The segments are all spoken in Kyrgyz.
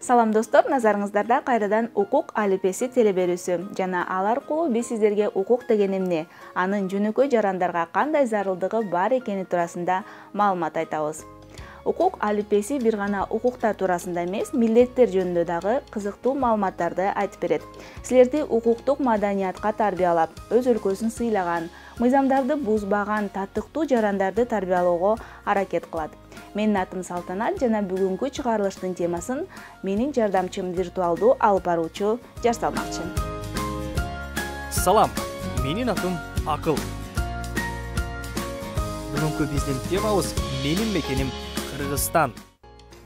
Салам достор, назарыңыздарда кайрадан укук алипеси телеберүүсү жана ал аркылуу биз сиздерге укук деген эмне, анын жөнөкөй жарандарга кандай зарылдыгы бар экени туурасында маалымат айтабыз. Укук алипеси бир гана укуктар туурасында эмес, милдеттер жөнүндө дагы кызыктуу маалыматтарды айтып берет. Силерди укуктук маданиятка тарбиялап, өз өлкөсүн сыйлаган, мыйзамдарды бузбаган татыктуу жарандарды тарбиялоого аракет кылат. Менин атым Салтанат жана бүгүнкү чыгарылыштын темасын менин жардамчым виртуалдуу алып баруучу жасалмакчы. Салам, менин атым Акыл. Бүгүнкү биздин темабыз менин мекеним Кыргызстан.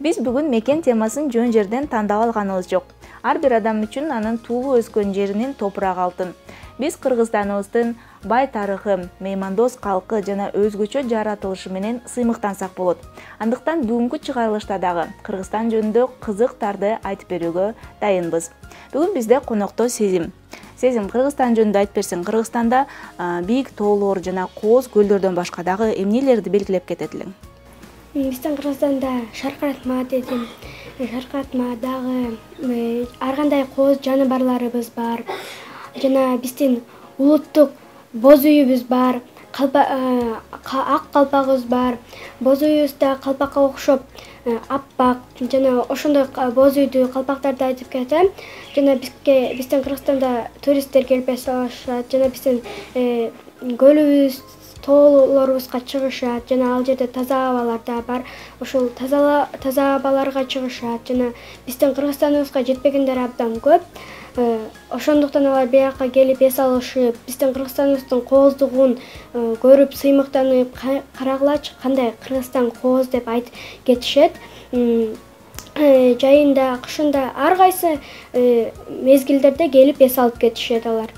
Биз бүгүн мекен темасын жөн жерден тандап алганыбыз жок. Ар бир адам үчүн анын туулуп өскөн жеринин топурагы алтын. Биз Кыргызстаныбыздын бай тарыхы, меймандос калкы жана өзгөчө жаратылышы менен сыймыктансак болот. Андыктан бүгүнкү чыгарылышта дагы Кыргызстан жөнүндө кызыктарды айтып берүүгө дайынбыз. Бүгүн бизде конокто Сезим. Сезим, Кыргызстан жөнүндө айтып берсең, Кыргызстанда бийик тоолор жана кооз көлдөрдөн башка дагы эмнелерди белгилеп кетет элең? Биздин Кыргызстанда шаркыратма дедим. Шаркыратма дагы ар кандай кооз жаныбарларыбыз бар. Жана биздин улуттук боз үйүбүз бар, ак калпагыбыз бар. Боз үйүбүздө калпакка окшоп аппак жана ошондой боз үйдү калпактарды айтып кетем. Жана биздин Кыргызстанда туристтер келип эсалышат, жана биздин көлүбүз, тоолорубузга чыгышат, жана ал жерде таза абалар да бар. Ошол таза абаларга чыгышат, жана биздин Кыргызстаныбызга жетпегендер абдан көп. Ошондуктан алар бияка келип эс алышып, биздин Кыргызстаныбыздын кооздугун көрүп, сыймыктанып, карагылачы кандай Кыргызстан кооз деп айтып кетишет. Жайында, кышында ар кайсы мезгилдерде келип эс алып кетишет алар.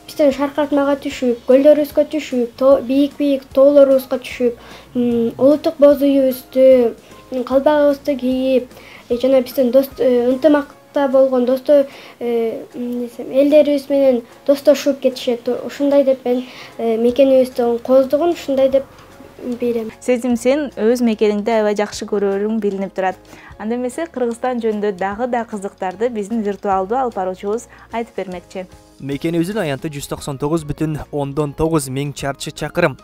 Биздин шаркыратмага түшүп, көлдөрүбүзгө түшүп, бийик тоолорубузга түшүп, улуттук боз үйүбүздү, калпагыбызды кийип, жана биздин ынтымакта болгон элдерибиз менен достошуп кетишет. Ушундай деп мен мекенибиздин кооздугун ушундай деп билем. Сезим, сен өз мекениңди аябай жакшы көрөрүң билинип турат. Анда эмесе Кыргызстан жөнүндө дагы да кызыктарды биздин виртуалдуу алып баруучубуз айтып бермекчи. Мекенибиздин аянты 199,9 миң чарчы чакырым.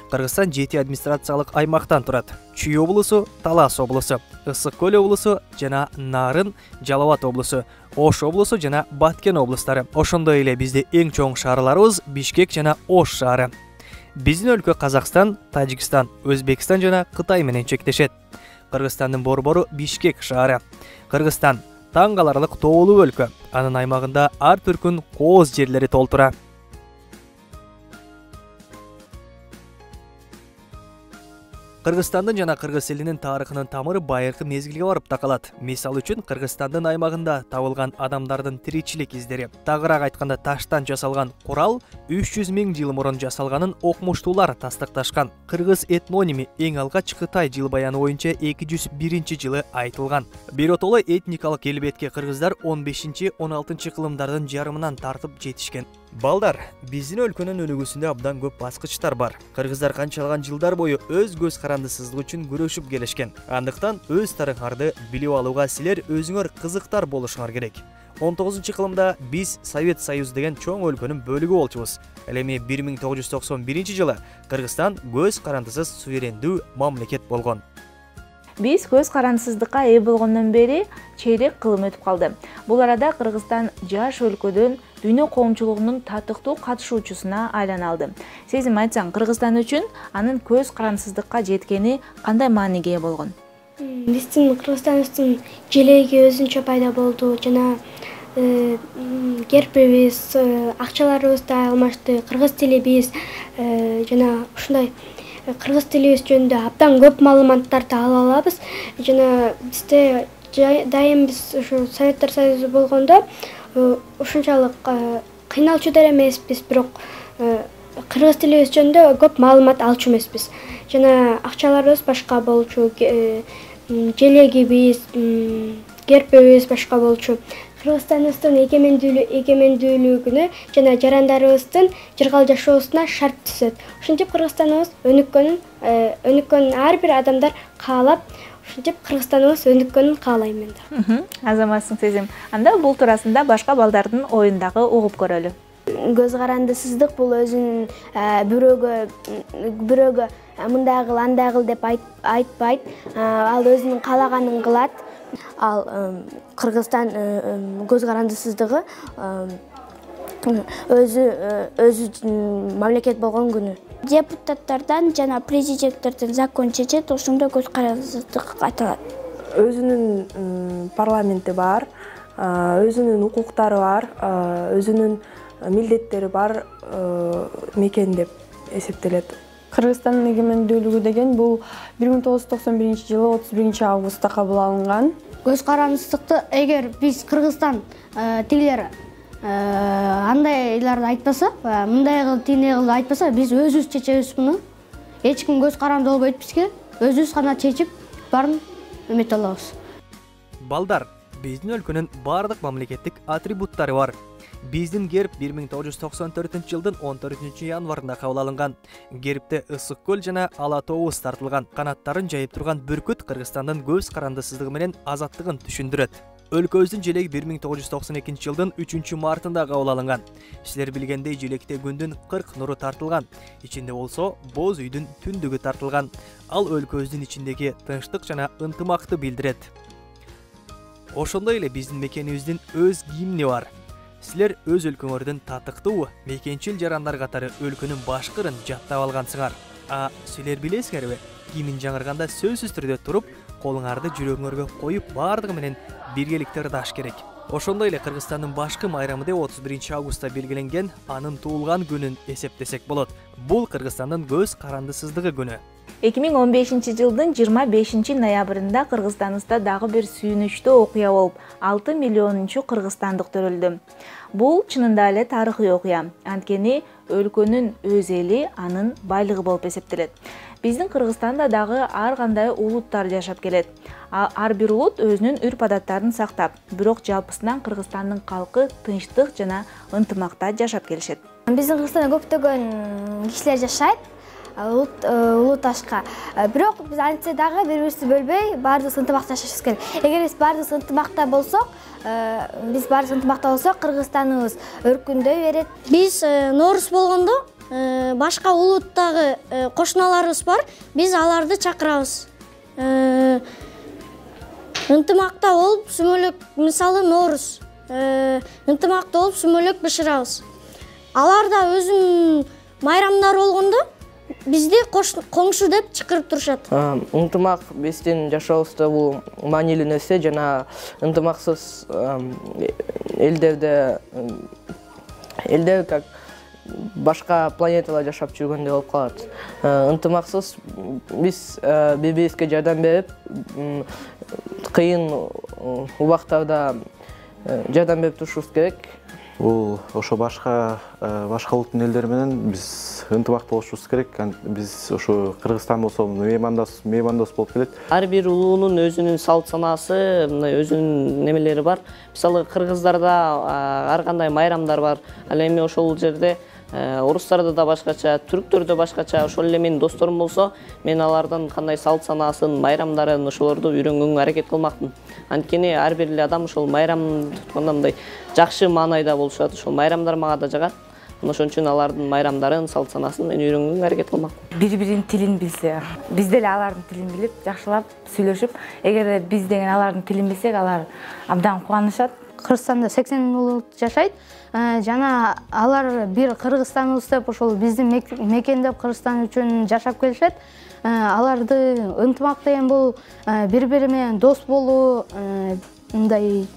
Кыргызстан 7 администрациялык аймактан турат. Чүй облусу, Талас облусу, Ысык көл облусу жана Нарын, Жалал Абад облусу, Ош облусу жана Баткен облустары. Ошондой эле бизде эң чоң шаарларыбыз Бишкек жана Ош шаары. Биздин өлкө Казакстан, Тажикстан, Өзбекстан жана Кытай менен чектешет. Кыргызстандын борбору Бишкек шаары. Кыргызстан таң каларлык тоолуу өлкө. Анын аймагында ар түркүн кооз жерлери толтура. Кыргызстандын жана кыргыз элинин тарыхынын тамыры байыркы мезгилге барып такалат. Мисал үчүн Кыргызстандын аймагында табылган адамдардын тиричилик издери, тагыраак айтканда таштан жасалган курал 300 миң жыл мурун жасалганын окумуштуулар тастыкташкан. Кыргыз этноними эң алгач Кытай жыл баяны боюнча 201-жылы айтылган. Биротоло этникалык келбетке кыргыздар 15-16 кылымдардын жарымынан тартып жетишкен. Балдар, биздин өлкөнүн өнүгүүсүндө абдан көп баскычтар бар. Кыргыздар канчалаган жылдар бою өз көз карандысыздык үчүн күрөшүп келишкен. Андыктан өз тарыхыңарды билип алууга силер өзүңөр кызыктар болушуңар керек. 19-кылымда биз Совет Союзу деген чоң өлкөнүн бөлүгү болчубуз. Ал эми 1991-жылы Кыргызстан көз карандысыз суверендүү мамлекет болгон. Биз көз карандысыздыкка ээ болгондон бери чейрек кылым өтүп калды. Бул арада Кыргызстан жаш өлкөдөн дүйнө коомчулугунун татыктуу катышуучусуна айлана алды. Сезим, айтсаң, Кыргызстан үчүн анын көз карандысыздыкка жеткени кандай мааниге ээ болгон? Биздин Кыргызстаныбыздын желеги өзүнчө пайда болду, жана гербибиз, акчаларыбыз да алмашты, кыргыз тилибиз жана ушундай кыргыз тилибиз жөнүндө абдан көп маалыматтарды ала алабыз. Жана бизде дайым биз ушу Советтер Союзу болгондо ушунчалык кыйналчудар эмеспиз, бирок кыргыз тилибиз жөнүндө көп маалымат алчу эмеспиз. Жана акчаларыбыз башка болчу, желегибиз, гербибиз башка болчу. Кыргызстаныбыздын эгемендүүлүгүнө жана жарандарыбыздын жыргал жашоосуна шарт түзөт. Ошентип Кыргызстаныбыз өнүккөнүн ар бир адамдар каалап, ушинтип Кыргызстаныбыз өнүккөнүн каалайм мен да. Азаматсың Сезим. Анда бул туурасында башка балдардын оюндагы угуп көрөлү. Көз карандысыздык бул өзүнүн бирөөгө мындай кыл андай кыл деп айтпайт. Ал өзүнүн каалаганын кылат. Ал Кыргызстан көз карандысыздыгы өзү мамлекет болгон күнү. Депутаттардан жана президенттерден закон чечет, ошондо көз карандысыздык айтылат. Өзүнүн парламенти бар, өзүнүн укуктары бар, өзүнүн милдеттери бар мекен деп эсептелет. Кыргызстандын эгемендүүлүгү деген бул 1991-жылы 31 августта кабыл алынган. Көз карандысыздыкты эгер биз Кыргызстан тигилер андайларды айтпаса, мындай кыл, тиндей кыл айтпаса, биз өзүбүз чечебиз муну. Эч ким көз каранды болбойт бизге. Өзүбүз гана чечип баарын эмете алабыз. Балдар, биздин өлкөнүн бардык мамлекеттик атрибуттары бар. Биздин герб 1994-жылдын 14 январында кабыл алынган. Гербте ысык көл жана ала тообуз тартылган. Канаттарын жайып турган бүркүт Кыргызстандын көз карандысыздыгы менен азаттыгын түшүндүрөт. Өлкөбүздүн желеги 1992-жылдын 3 мартында кабыл алынган. Силер билгендей желекте күндүн 40 нуру тартылган. Ичинде болсо боз үйдүн түндүгү тартылган. Ал өлкөбүздүн ичиндеги тынчтык жана ынтымакты билдирет. Ошондой эле биздин мекенибиздин өз гимни бар. Силер өз өлкөңөрдүн татыктуу мекенчил жарандар катары өлкөнүн башкырын жаттап алгансыңар. Силер билесиңерби? Гимн жаңырганда сөзсүз түрдө туруп, колуңарды жүрөгүңөргө коюп, бардыгы менен биргеликте ырдаш керек. Ошондой эле Кыргызстандын башкы майрамы деп 31 августта белгиленген, анын туулган күнүн эсептесек болот. Бул Кыргызстандын көз карандысыздыгы күнү. 2015-жылдын 25 ноябрында Кыргызстаныбызда дагы бир сүйүнүчтүү окуя болуп, 6 миллионунчу кыргызстандык төрөлдү. Бул чынында эле тарыхый окуя. Анткени өлкөнүн өз эли анын байлыгы болуп эсептелет. Биздин Кыргызстанда дагы ар кандай улуттар жашап келет. Ар бир улут өзүнүн үрп-адаттарын сактап, бирок жалпысынан Кыргызстандын калкы тынчтык жана ынтымакта жашап келишет. Биздин Кыргызстанда көптөгөн кишилер жашайт. Улуташка. Бирок биз антсе дагы бири-бирибизди бөлбөй, баардыгыбыз ынтымакта жашашыбыз керек. Эгер биз баардыгыбыз ынтымакта болсок, Кыргызстаныбыз өркүндөй берет. Биз Нооруз болгондо башка улуттагы кошуналарыбыз бар, биз аларды чакырабыз. Ынтымакта болуп, сүмөлөк, мисалы Нооруз. Ынтымакта болуп, сүмөлөк бышырабыз. Алар да өзүнүн майрамдары болгондо бизди коңшу деп чакырып турушат. Ынтымак биздин жашообузда бул маанилүү нерсе жана ынтымаксыз элдер как башка планетада жашап жүргөндөй болуп калат. Ынтымаксыз биз бири-бирибизге жардам берип, кыйын убактарда жардам берип турушубуз керек. Бул ошо башка улуттун элдери менен биз ынтымакта болушубуз керек. Биз ошо Кыргызстан болсо меймандос болуп келет. Ар бир улуунун өзүнүн салт санаасы, мындай өзүнүн немелери бар. Мисалы кыргыздарда ар кандай майрамдар бар. Ал эми ошол жерде орустарда да башкача, түрктөрдө башкача. Ошол эле менин досторум болсо, мен алардын кандай салт санаасын, майрамдарын ошолорду үйрөнгөнгө аракет кылмакмын. Анткени ар бир эле адам ошол майрам тутканда мындай жакшы маанайда болушат. Ошол майрамдар мага да жагат. Ошон үчүн алардын майрамдарын, салт санаасын мен үйрөнгөнгө аракет кылмакмын. Бири-биринин тилин билсе, биз деле алардын тилин билип, жакшылап сүйлөшүп, эгер биз деген алардын тилин билсек, алар абдан кубанышат. Кыргызстанда 80 улут жашайт. Жана алар бир Кыргызстаныбыз деп ошол биздин мекен деп Кыргызстан үчүн жашап келишет. Аларды ынтымак деген бул бири-бири менен дос болуу, мындай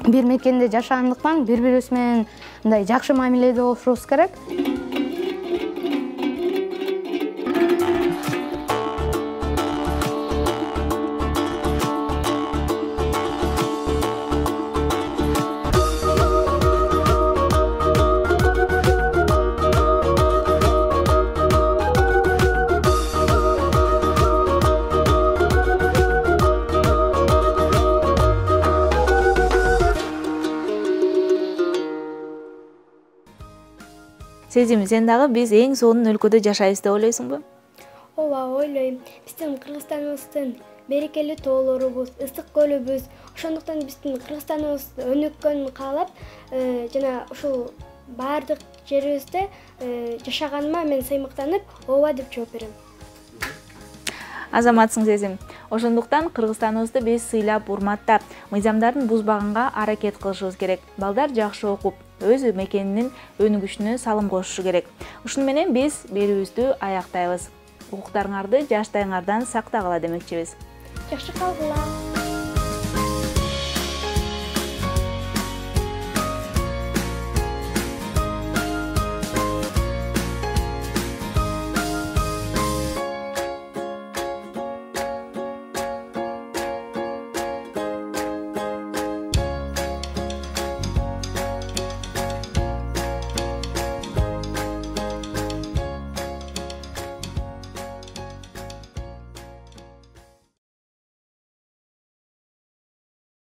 бир мекенде жашагандыктан бири-бирибиз менен мындай жакшы мамиледе болушубуз керек. Сезим, сен дагы биз эң сонун өлкөдө жашайбыз деп ойлойсуңбу? Ооба, ойлойм. Биздин Кыргызстаныбыздын берекелүү тоолорубуз, ысык көлүбүз. Ошондуктан биздин Кыргызстаныбыз өнүккөнүн каалап, жана ушул баардык жерибизде жашаганыма мен сыймыктанып, ооба деп жооп берем. Азаматсың сезим. Ошондуктан Кыргызстаныбызды биз сыйлап, урматтап, мыйзамдарын бузбаганга аракет кылышыбыз керек. Балдар жакшы окуп, өз мекенинин өнүгүшүнө салым кошушу керек. Ушуну менен биз берүүбүздү аяктайбыз. Укуктарыңарды жаштайыңардан сактагыла демекчибиз. Жакшы калгыла.